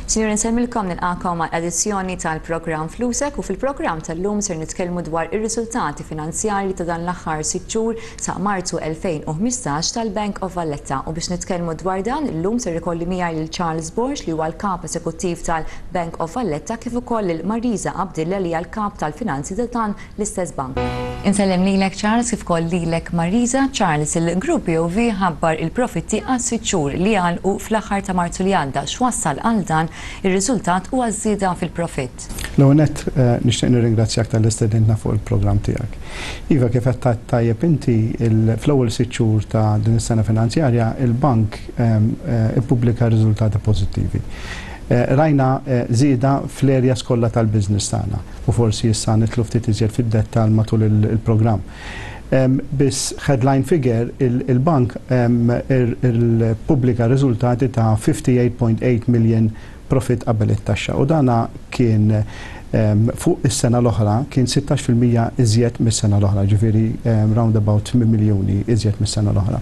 Sinjuri, nsellmilkom, nilqagħkom għal edizzjoni tal-programm Flusek u fil-programm tal-lum ser nitkellmu dwar ir-riżultati finanzjarji ta' dan l-aħħar 6 xhur sa Marzu 2015 tal-Bank of Valletta u biex nitkellmu dwar dan illum ser ikolli miegħi lil Charles Borg li huwa l-kap eżekuttiv tal-Bank of Valletta kif ukoll lil Marisa Abdilla li hija l-kap tal-finanzi ta' dan l-istess bank. Insellem lilek Charles kif ukoll lilek Marisa. Charles, il-Grupp BOV ħabbar il-profitti għas-sitt xhur li għalqu fl-aħħar ta' Marzu li għadda. X'wassal għal dan ir-riżultat u għaż-żieda fil-profitt? L-ewwel nett nixtieq nirringrazzjak talli stedintna fuq il-programm tiegħek. Iva, kif qed tgħid tajjeb inti, fl-ewwel sitt xhur ta' din is-sena finanzjarja, il-bank ippubblika riżultati pożittivi. Rajna żieda fl-areas kollha tal-business tagħna u forsi issa nidħlu ftit iżjed fid-dettall matul il-programm. Biss headline figure, il-bank ippubblika riżultati ta' 58.8 million profit qabel it-taxxa u dana kien fuq is-sena l-oħra kien 16% iżjed mis-sena l-oħra, ġifieri round about 8 miljuni iżjed mis-sena l-oħra.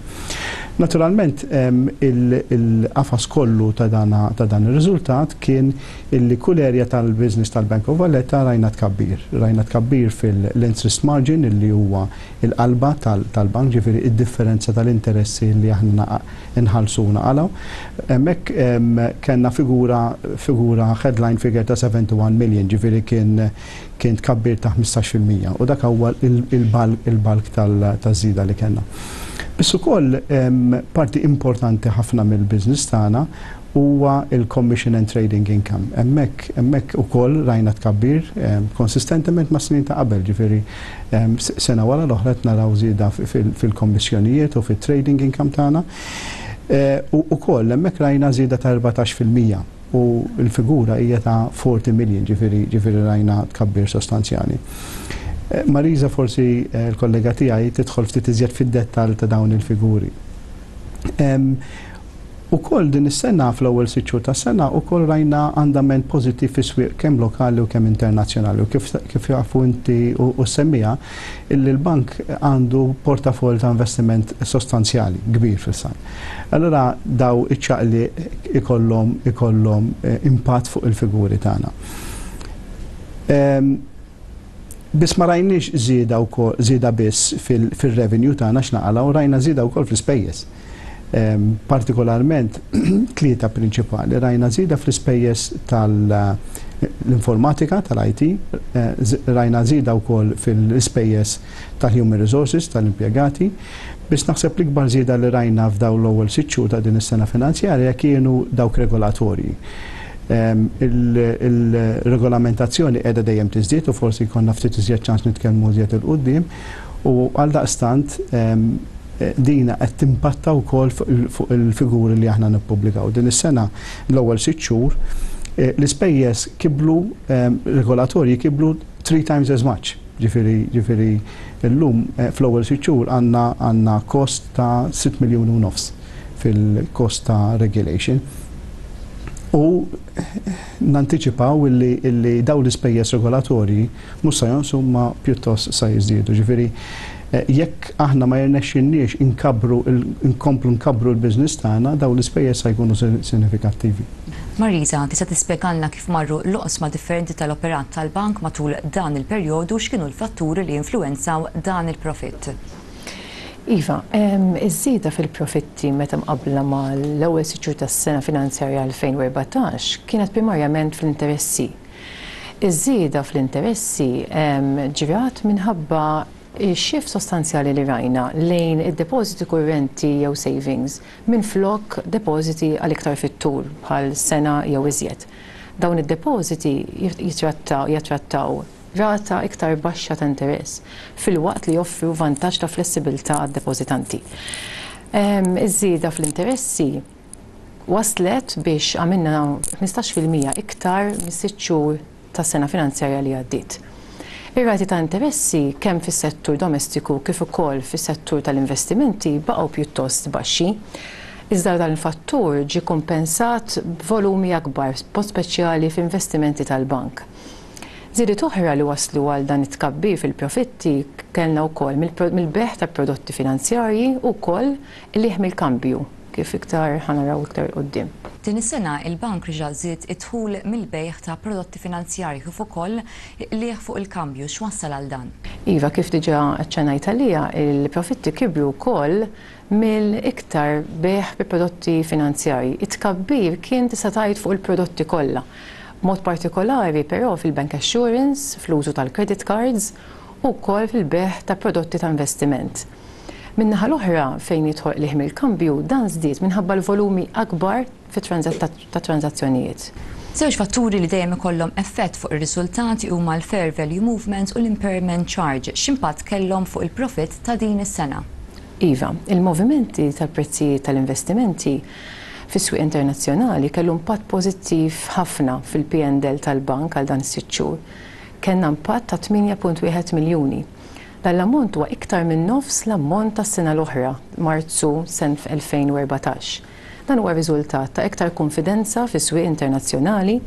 Naturalment il-qafas kollu ta' dan ir-riżultat kien illi kull area tal-business tal-Bank of Valletta rajna tkabbir. Rajna tkabbir fil-interest margin illi huwa il-qalba tal-bank, ġifieri id-differenza tal-interessi li aħna nħallsu u naqalgħu. Hemmhekk kellna figura headline figure ta' 71 million, ġifieri kien tkabbir ta' 15% u dak huwa il-bulk taż-żieda li kellna. Biss ukoll parti importanti ħafna mill-business tagħna huwa il-commission and trading income. Hemmhekk ukoll rajna tkabbir konsistentement ma' snin ta' qabel, ġifieri sena wara l-oħra qed naraw żieda fil-kommissjonijiet u fit-trading income tagħna. U ukoll hemmhekk rajna żieda ta' 14% u l-figura hija ta' 40 million, ġifieri rajna tkabbir sostanzjali. Marisa, forsi l-kollega tiegħi tidħol ftit iżjed fid-dettall ta' dawn il-figuri. Ukoll din is-sena, fl-ewwel 6 xhur tas-sena, ukoll rajna andament pożittiv fis-swieq kemm lokali u kemm internazzjonali u kif jafu inti u semmija illi l-bank għandu portafoll ta' investiment sostanzjali kbir fis-san. Allura daw iċ-ċaqli ikollhom impatt fuq il-figuri tagħna. Biss ma rajniex żieda wkoll żieda biss fil-revenue tagħna x'naqalgħu, rajna żieda wkoll fl-ispejjeż. Partikolarment tlieta prinċipali: rajna żieda fl-ispejjeż tal-informatika, tal-IT, rajna żieda wkoll fil-ispejjeż tal-human resources, tal-impjegati. Biss naħseb l-ikbar żieda li rajna f'dawn l-ewwel 6 xhur ta' din is-sena finanzjarja kienu dawk regolatorji. Il-regolamentazzjoni qiegħda dejjem tiżdied u forsi jkollna ftit iżjed ċans nitkellmu iżjed 'il quddiem u għaldaqstant dina qed timpatta wkoll fuq il-figuri li aħna nippubblikaw. Din is-sena, l-ewwel 6 xhur, l-ispejjeż kibru regolatorji kibru three times as much. Ġifieri llum fl-ewwel 6 xhur għandna cost ta' 6 miljuni u nofs fil-cost ta' regulation. U nantiċipaw illi dawn l-ispejjeż regolatorji mhux sa jonqsu ma pjuttost sa jiżdiedu. Ġifieri jekk aħna ma jirnexxinniex inkabbru inkomplu nkabbru l-business tagħna, dawn l-ispejjeż sa jkunu sinifikattivi. Marisa, tista' tispjegalna kif marru l-oqsma differenti tal-operat tal-bank matul dan il-perjodu, x'kienu l-fatturi li influwenzaw dan il-profitt? Iva, iż-żieda fil-profitti meta mqabbla mal-ewwel 6 xhur tas-sena finanzjarja 2014 kienet primarjament fl-interessi. Iż-żieda fl-interessi ġrat minħabba x-shift sostanzjali li rajna lejn id-depożiti kurrenti jew savings minflok depożiti għal iktar fit-tul bħal sena jew iżjed. Dawn id-depożiti jattrattaw rata iktar baxxa ta' interess filwaqt li joffru vantaġġ ta' flessibilità għad-depożitanti. Iż-żieda fl-interessi waslet biex għamilna 15% iktar mis-6 xhur tas-sena finanzjarja li għaddiet. Ir-rati ta' interessi kemm fis-settur domestiku kif ukoll fis-settur tal-investimenti baqgħu pjuttost baxxi. Iżda dan il-fattur ġie kompensat b'volumi akbar, b'mod speċjali f'investimenti tal-bank. Żidiet oħra li waslu għal dan it-tkabbir fil-profitti kellna wkoll mill-bejgħ ta' prodotti finanzjarji u wkoll qligħ mill-kambju. kif iktar ħa naraw iktar 'il quddiem. Din is-sena il-bank reġa' żied id-dħul mill-bejgħ ta' prodotti finanzjarji kif ukoll qligħ fuq il-kambju. X'wassal għal dan? Iva, kif diġà aċċennajt għaliha, il-profitti kibru wkoll mill-iktar bejgħ bi prodotti finanzjarji. It-tkabbir kien tista' tgħid fuq il-prodotti kollha. B'mod partikolari però fil-bank assurance, fl-użu tal-credit cards u wkoll fil-bejgħ ta' prodotti ta' investiment. Min-naħa l-oħra, fejn jidħol qligħ mill-kambju, dan żdied minħabba l-volumi akbar ta' tranżazzjonijiet. Żewġ fatturi li dejjem ikollhom effett fuq ir-riżultati huma l-fair value movements u l-impairment charge. X'impatt kellhom fuq il-profitt ta' din is-sena? Iva, il-movimenti tal-prezzijiet tal-investimenti fis-swieq internazzjonali kellu impatt pożittiv ħafna fil-P&L tal-bank għal dan is-sitt xhur. Kellna impatt ta' 8.1 miljuni. Dan l-ammont huwa iktar minn nofs l-ammont tas-sena l-oħra, Marzu senf 2014. Dan huwa riżultat ta' iktar kunfidenza fis-swieq internazzjonali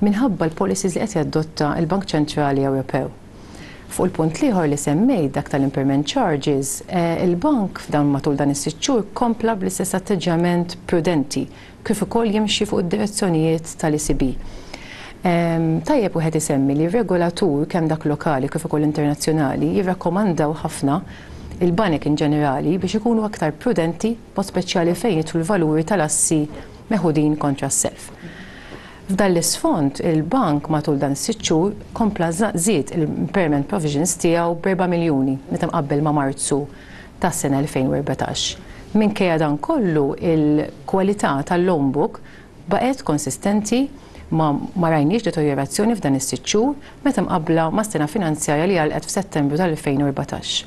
minħabba l-policies li qed jadotta l-Bank Ċentrali Ewropew. Fuq il-punt l-ieħor li semmejt, dak tal-impairment charges, il-bank f'dan matul dan is-sitt xhur kompla bl-istess atteġġjament prudenti kif ukoll jimxi fuq id-direzzjonijiet tal-ECB. Tajjeb wieħed isemmi li r-regolatur kemm dak lokali kif ukoll internazzjonali jirrakkomandaw ħafna il-banek in ġenerali biex ikunu aktar prudenti, b'mod speċjali fejn jidħlu l-valuri tal-assi meħudin kontra s-self. F'dan l-isfond, il-bank matul dan is-sitt xhur kompla żied l-impairment provisions tiegħu b'4 miljuni meta mqabbel ma' Marzu tas-sena 2014. Minkejja dan kollu, il-kwalità tal-loan book baqgħet konsistenti, ma ma rajniex deterjorazzjoni f'dan is-sitt xhur meta mqabbla mas-sena finanzjarja li għalqet f'Settembru tal-2014.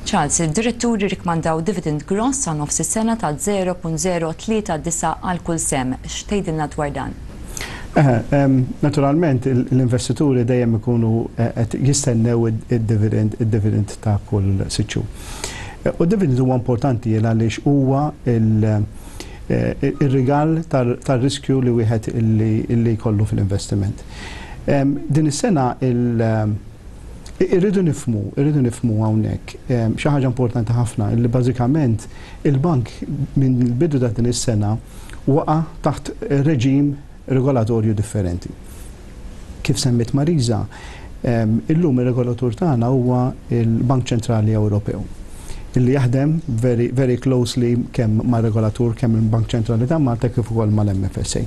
Charles, id-diretturi rikmandaw dividend gross sa nofs is-sena ta' 0.039 għal kull sehem. X'tgħidilna dwar dan? Naturalment l-investituri dejjem ikunu qed jistennew id-dividend id-dividend ta' kull sitt xhur. U d-dividend huwa importanti għaliex huwa ir-rigal tar-riskju li wieħed illi jkollu fil-investiment. Din is-sena irridu nifhmu, irridu nifhmu hawnhekk xi ħaġa importanti ħafna li bażikament il-bank minn il-bidu ta' din is-sena waqa' taħt reġim regolatorju differenti. Kif semmit Marisa, illum ir-regolatur tagħna huwa l-Bank Ċentrali Ewropew illi jaħdem very, very closely kemm mar-regolatur, kemm il-Bank Ċentrali ta' Malta kif ukoll mal-MFSA.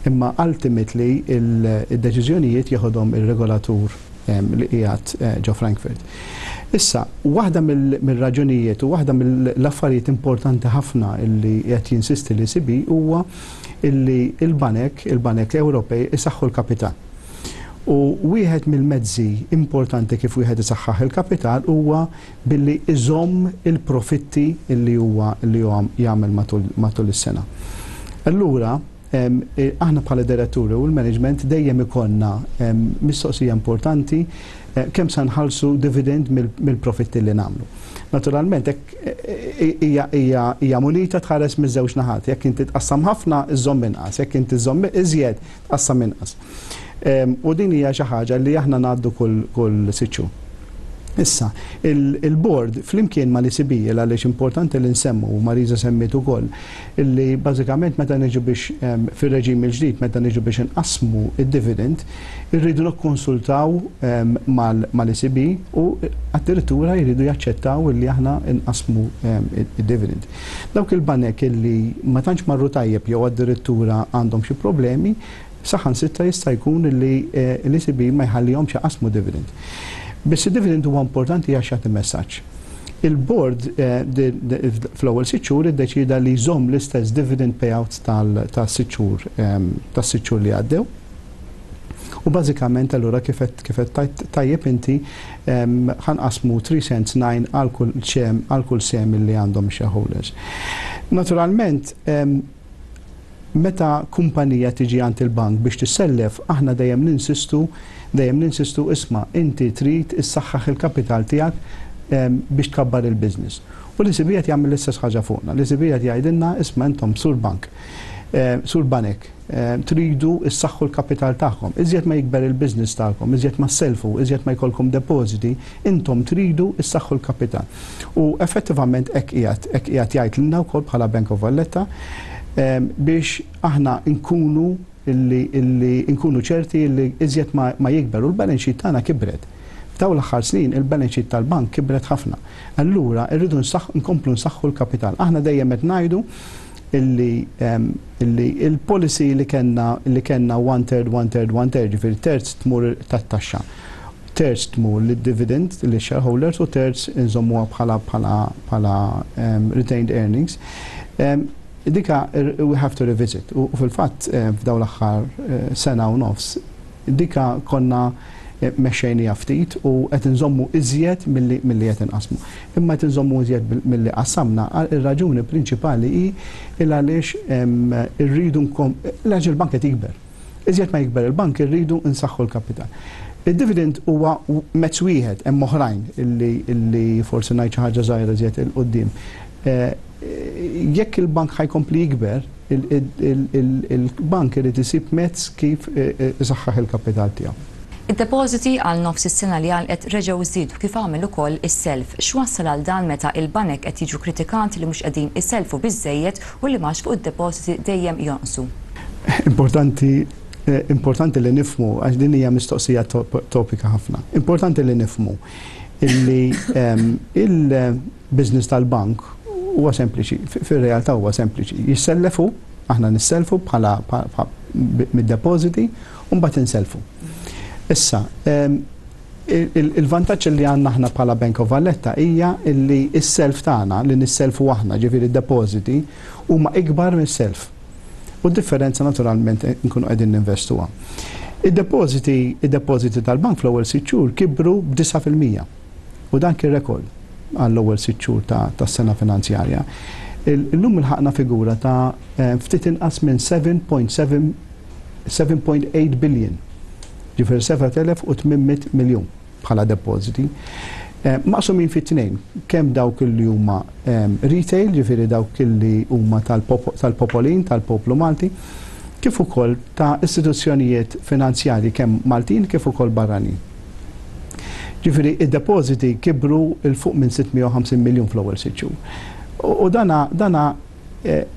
Imma ultimately il-deċiżjonijiet jeħodhom ir-regolatur li qiegħed ġo Frankfurt. Issa, waħda mill-raġunijiet u waħda mill-affarijiet importanti ħafna illi qed jinsisti l-ECB huwa illi il-banek, il-banek Ewropej isaħħu l-kapital. U wieħed mill-mezzi importanti kif wieħed isaħħaħ il-kapital huwa billi iżomm il-profitti illi huwa li huwa jagħmel matul is-sena. Allura, aħna bħala diretturi u l-management dejjem ikollna mistoqsija importanti kemm sa nħallsu dividend mill-profitti li nagħmlu. Naturalment, hekk hija munita tħares miż-żewġ naħat. Jekk inti tqassam ħafna, iżomm inqas, jekk inti żomm iżjed, tqassam inqas. U din hija xi ħaġa li aħna ngħaddu kull sitt xhur. Issa, il-board flimkien ma l-ECB, għaliex importanti li nsemmu, u Marisa semmiet ukoll, illi bażikament meta niġu biex fir-reġim il-ġdid, meta niġu biex nqassmu id-dividend, irridu nikkonsultaw mal-ECB u addirittura jridu jaċċettaw illi aħna nqassmu id-dividend. Dawk il-banek illi ma tantx marru tajjeb jew addirittura għandhom xi problemi, saħansitra jista' jkun li l-ECB ma jħallihomx jaqasmu dividend. Biss id-dividend huwa importanti għax jagħti messaġġ. Il-board fl-ewwel 6 xhur iddeċida li jżomm l-istess dividend payout tas-sitt xhur tas-sitt xhur li għaddew. U bażikament allura kif qed tajjeb inti, ħa nqassmu 3 cents 9 għal kull sehem li għandhom shareholders. Naturalment, meta kumpanija tiġi għand il-bank biex tissellef, aħna dejjem ninsistu, isma', inti trid issaħħaħ il-kapital tiegħek biex tkabbar il-business. U l-ECB qed jagħmel l-istess ħaġa fuqna. L-ECB qed jgħidilna, isma', intom sur bank, sur banek, tridu issaħħu l-kapital tagħkom. Iżjed ma jikber il-business tagħkom, iżjed ma selfu, iżjed ma jkollkom depositi, intom tridu issaħħu l-kapital. U effettivament hekk qiegħed jgħid lilna wkoll bħala Bank of Valletta. Biex aħna nkunu illi nkunu ċerti illi iżjed ma jikber u l-balance sheet tagħna kibret. F'dawn l-aħħar snin il-balance sheet tal-bank kibret ħafna. Allura rridu nkomplu nsaħħu l-kapital. Aħna dejjem qed ngħidu illi il-policy li kellna one third, one third, one third, ġifieri terz tmur tat-taxxa, terz tmur lid-dividend li shareholders u terz inżommuha bħala retained earnings. Dika we have to revisit. U fil-fatt f'dawn l-aħħar sena u nofs dika konna mexxejnija ftit u qed inżommu iżjed milli qed inqasmu. Imma qed inżommu iżjed milli qassamna, ir-raġuni prinċipali hi il għaliex irridu għaliex il-bank qed jikber. Iżjed ma jikber il-bank, irridu nsaħħu l-kapital. Il-dividend huwa mezz wieħed, hemm oħrajn illi forsi ngħid xi ħaġa żgħira iżjed 'il quddiem. Jekk il-bank ħa jkompli jikber, il-bank irid isib mezz kif isaħħaħ il-kapital tiegħu. Id-depożiti għal nofs is-sena li għalqet reġgħu żdiedu, kif għamel ukoll is-self. X'wassal għal dan meta il-banek qed jiġu kritikati li mhux qegħdin iselfu biżejjed u li mhux fuq id-depożiti dejjem jonqsu? Importanti li nifhmu, għax din hija mistoqsija topika ħafna. Importanti li nifhmu illi il-business tal-bank huwa sempliċi, fir-realtà huwa sempliċi. Jissellefu, aħna nisselfu bħala mid-depożiti u mbagħad inselfu. Issa, il-vantaġġ li għandna aħna bħala Bank of Valletta hija illi s-self tagħna li nisselfu aħna, ġifieri d-depożiti, huma ikbar mis-self. U d-differenza naturalment nkunu qegħdin ninvestuha. Id-depożiti tal-bank fl-ewwel 6 xhur kibru b'9%. U dan kien rekord għall-ewwel 6 xhur tas-sena finanzjarja. Illum ilħaqna figura ta' ftit inqas minn 7.7 7.8 billion. Ġifieri 7800 miljun bħala depożiti. Maqsumin fit tnejn, kemm dawk li huma retail, ġifieri dawk li huma tal-popolin, tal-poplu Malti, kif ukoll ta' istituzzjonijiet finanzjarji kemm Maltin kif ukoll barranin. Ġifieri id-depożiti kibru 'il fuq minn 650 miljun fl-ewwel 6 xhur. U dana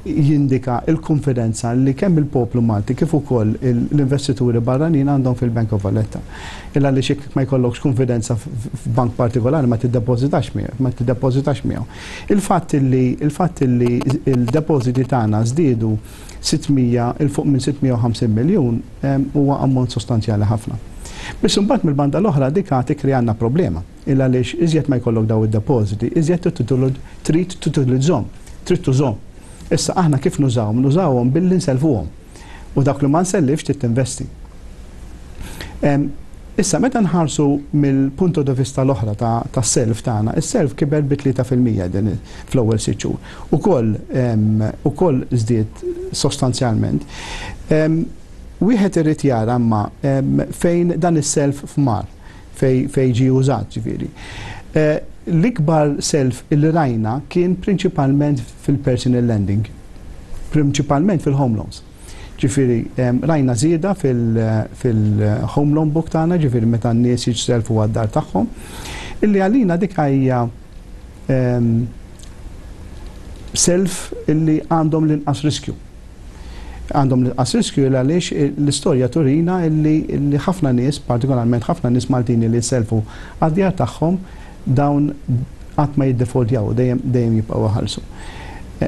jindika il-konfidenza li kemm il-poplu Malti kif ukoll l-investituri barranin għandhom fil-Bank of Valletta. Illa li xik ma jkollokx konfidenza f'bank partikolari, ma tiddepożitax miegħu, ma tiddepożitax miegħu. Il-fatt li il-depożiti tagħna żdiedu 600 'il fuq minn 650 miljun huwa ammont sostanzjali ħafna. Biss imbagħad mill-banda l-oħra dika tikkrealna problema. Illa għaliex iżjed ma jkollok daw id-depożiti, iżjed trid tutilizzhom, trid tużhom. Issa aħna kif nużawhom? Nużawhom billi nselfuhom. U dak li ma nsellifx trid tinvesti. Issa meta nħarsu mill-punto di vista l-oħra ta' self tagħna, is-self kiber bi 3% din fl-ewwel 6 xhur. Ukoll żdied sostanzjalment. Wieħed irid jara imma fejn dan is-self f'mar, fej ġi użat ġifieri. L-ikbar self illi rajna kien prinċipalment fil-personal lending, prinċipalment fil-home loans. Ġifieri, rajna żieda fil-home loan book tagħna, ġifieri meta n-nies jiġselfu għad-dar tagħhom, illi għalina dik hija self illi għandhom l-inqas riskju. Għandhom l-inqas riskju għaliex l-istorja turina illi ħafna nies, partikolarment ħafna nies Maltini li selfu għad-djar tagħhom, dawn qatt ma jiddefaultjaw, dejjem jibqgħu iħallsu.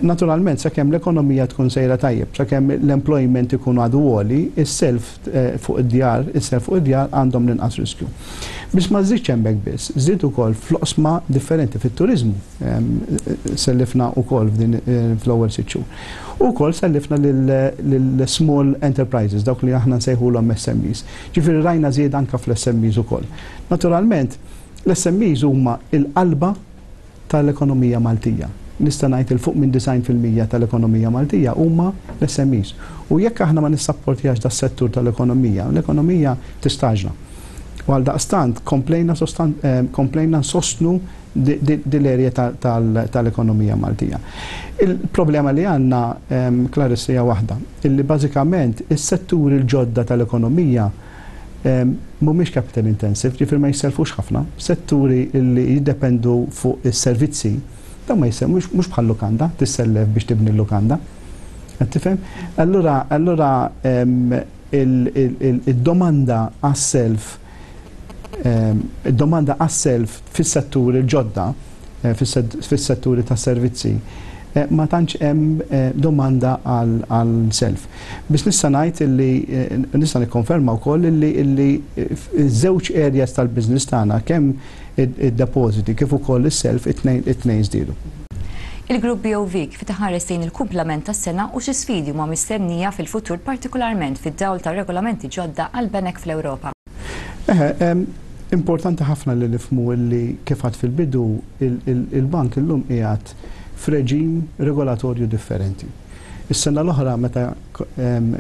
Naturalment, sakemm l-ekonomija tkun sejra tajjeb, sakemm l-employment ikun għadu għoli, is-self fuq id-djar, is-self fuq id-djar għandhom l-inqas riskju. Biss ma żidx hemmhekk biss, żdied ukoll fl-oqsma differenti fit-turizmu. Sellifna ukoll f'din fl-ewwel 6 xhur. Ukoll sellifna lil small enterprises, dawk li aħna nsejħulhom SMEs. Ġifieri rajna żied anka fl-SMEs ukoll. Naturalment, l-SMEs huma il-qalba tal-ekonomija Maltija. Nista' ngħid 'il fuq minn 90% tal-ekonomija Maltija huma l-SMEs. U jekk aħna ma nissapportjax das-settur tal-ekonomija, l-ekonomija tistaġna. U għal daqstant komplejna nsostnu dil-area tal-ekonomija Maltija. Il-problema li għandna, Clarissa, hija waħda, illi bażikament is-setturi l-ġodda tal-ekonomija mhumiex capital intensive, ġifieri ma jisselfux ħafna. Setturi li jiddependu fuq is-servizzi, dan ma jissel mhux bħal lukanda, tissellef biex tibni l-lukanda. Qed tifhem? Allura allura id-domanda għas-self id-domanda għas-self fis-setturi l-ġodda, fis-setturi tas-servizzi, ma tantx hemm domanda għal self. Biss nista' ngħid illi nista' nikkonferma wkoll illi illi ż-żewġ areas tal-business tagħna kemm id-depożiti kif ukoll is-self it-tnejn żdiedu. Il-Grupp BOV kif qed iħares lejn il-kumplament tas-sena u xi sfidi huma mistennija fil-futur partikolarment fid-dawl ta' regolamenti ġodda għall-banek fl-Ewropa? Eħe, importanti ħafna li nifhmu illi kif għedt fil-bidu il-bank illum qiegħed f'reġim regolatorju differenti. Is-sena l-oħra meta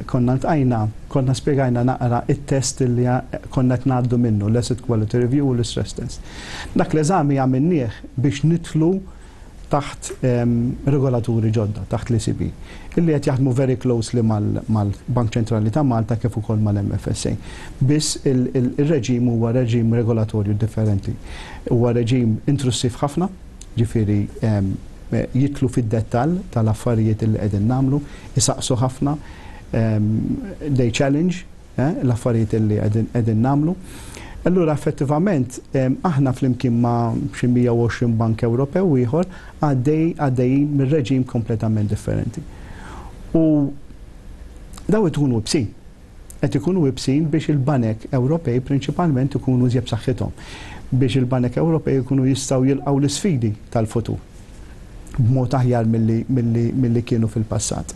konna ltqajna, konna spjegajna naqra it-test li konna qed ngħaddu minnu, l-asset quality review u l-istress test. Dak l-eżami għamilnieh biex nidħlu taħt regolaturi ġodda, taħt l-ECB, illi qed jaħdmu very closely mal-Bank Ċentrali ta' Malta kif ukoll mal-MFSA. Biss il-reġim huwa reġim regolatorju differenti. Huwa reġim intrussiv ħafna, ġifieri jidħlu fid-dettall tal-affarijiet illi qegħdin nagħmlu, isaqsu ħafna, they challenge l-affarijiet illi qegħdin nagħmlu. Allura effettivament aħna flimkien ma' xi 120 bank Ewropew ieħor għaddej għaddejjin minn reġim kompletament differenti. U daw ikunu ibsin. Qed ikunu ibsin biex il-banek Ewropej prinċipalment ikunu iżjed b'saħħithom. Biex il-banek Ewropej ikunu jistgħu jilqgħu l-isfidi tal-futur b'mod aħjar milli kienu fil-passat.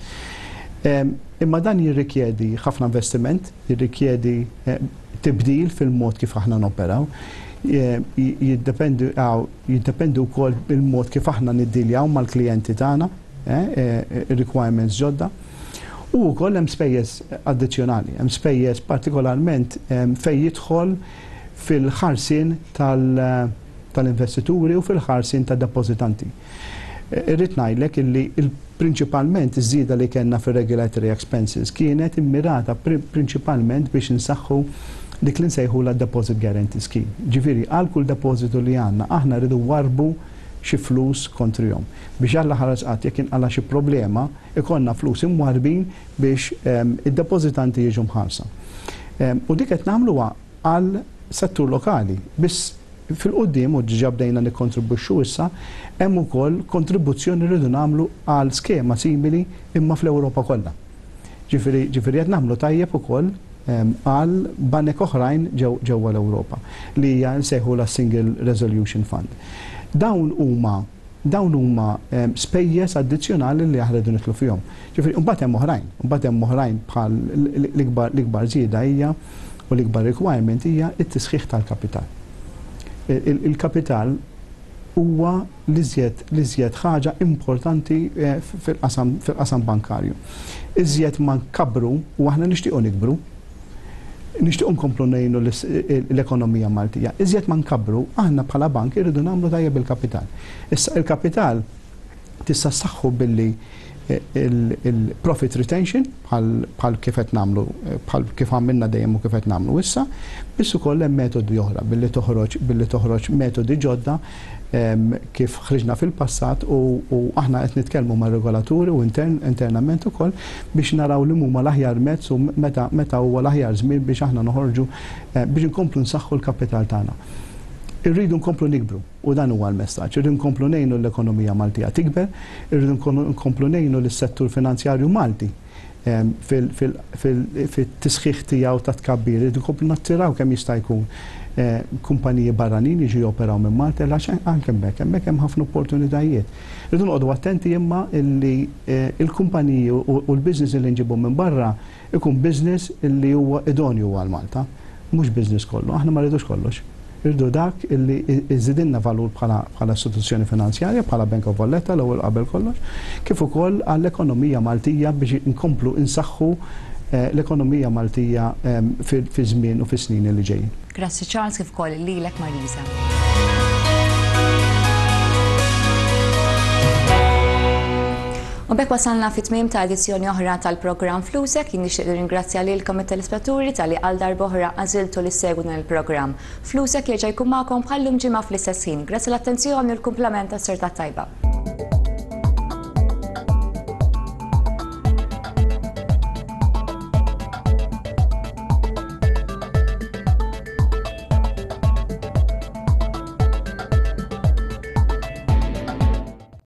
Imma dan jirrikjedi ħafna investiment, jirrikjedi tibdil fil-mod kif aħna noperaw, jiddependi jiddependi wkoll il-mod kif aħna niddiljaw mal-klijenti tagħna, requirements ġodda. U wkoll hemm spejjeż addizzjonali, hemm spejjeż partikolarment fejn jidħol fil-ħarsien tal-investituri u fil-ħarsien tad-depożitanti. Irrid ngħidlek illi prinċipalment iż-żieda li kellna fir-regulatory expenses kienet immirata prinċipalment biex insaħħu dik li nsejħula Deposit Guarantee Scheme. Ġifieri għal kull depożitu li għandna aħna rridu nwarrbu xi flus kontrihom. Biex Alla ħares qatt jekk inqala' xi problema ikollna flus imwarrbin biex id-depożitanti jiġu mħarsa. U dik qed nagħmluha għal settur lokali. Biss fil-quddiem, u diġà bdejna nikkontribwixxu issa, hemm ukoll kontribuzzjoni li rridu nagħmlu għal skema simili imma fl-Ewropa kollha. Ġifieri ġifieri qed nagħmlu tajjeb ukoll għal banek oħrajn ġewwa l-Ewropa li hija nsejħulha Single Resolution Fund. Dawn huma dawn huma spejjeż addizzjonali li aħna rridu nidħlu fihom. Ġifieri mbagħad hemm oħrajn, mbagħad hemm oħrajn bħal l-ikbar l-ikbar żieda hija u l-ikbar requirement hija t-tisħiħ tal-kapital. Il-kapital huwa l-iżjed l-iżjed ħaġa importanti fil-qasam fil-qasam bankarju. Iżjed ma nkabbru u aħna nixtiequ nikbru, nixtiequ nkomplu ngħinu l-ekonomija Maltija. Iżjed ma nkabbru, aħna bħala bank irridu nagħmlu tajjeb il-kapital. Issa il-kapital tista' ssaħħu billi il-profit retention bħal kif qed nagħmlu bħal kif għamilna dejjem u kif qed nagħmlu issa, biss ukoll hemm metodi oħra billi toħroġ billi toħroġ metodi ġodda kif ħriġna fil-passat u aħna qed nitkellmu mar-regolaturi u internament ukoll biex naraw li huma l-aħjar mezz u meta meta huwa l-aħjar żmien biex aħna noħorġu biex inkomplu nsaħħu l-kapital tagħna. Irridu nkomplu nikbru u dan huwa l-messaġġ. Irridu nkomplu ngħinu l-ekonomija Maltija tikber, irridu nkomplu ngħinu lis-settur finanzjarju Malti fit-tisħiħ tiegħu ta' tkabbir, irridu nkomplu nattiraw kemm jista' jkun kumpaniji barranin jiġu joperaw minn Malta għax anke hemmhekk hemmhekk hemm ħafna opportunitajiet. Irridu noqogħdu attenti imma illi l-kumpaniji u l-business li nġibu minn barra ikun business illi huwa idonju għal Malta, mhux business kollu, aħna ma rridux kollox. Irridu dak illi iżidilna valur bħala istituzzjoni finanzjarja, bħala Bank of Valletta l-ewwel qabel kollox, kif ukoll għall-ekonomija Maltija biex inkomplu insaħħu l-ekonomija Maltija fi żmien u fis-snin li ġejjin. Grazzi Charles kif ukoll lilek Marisa. U b'hekk wasalna fi tmiem ta' edizzjoni oħra tal-programm Flusek, jien nixtieq nirringrazzja lilkom it-telespettaturi talli għal darb'oħra għażiltu li ssegwu dan il-programm. Flusek jerġa' jkun magħkom bħal-lum ġimgħa fl-istess ħin. Grazzi l-attenzjoni u l-kumplament tas-serata tajba.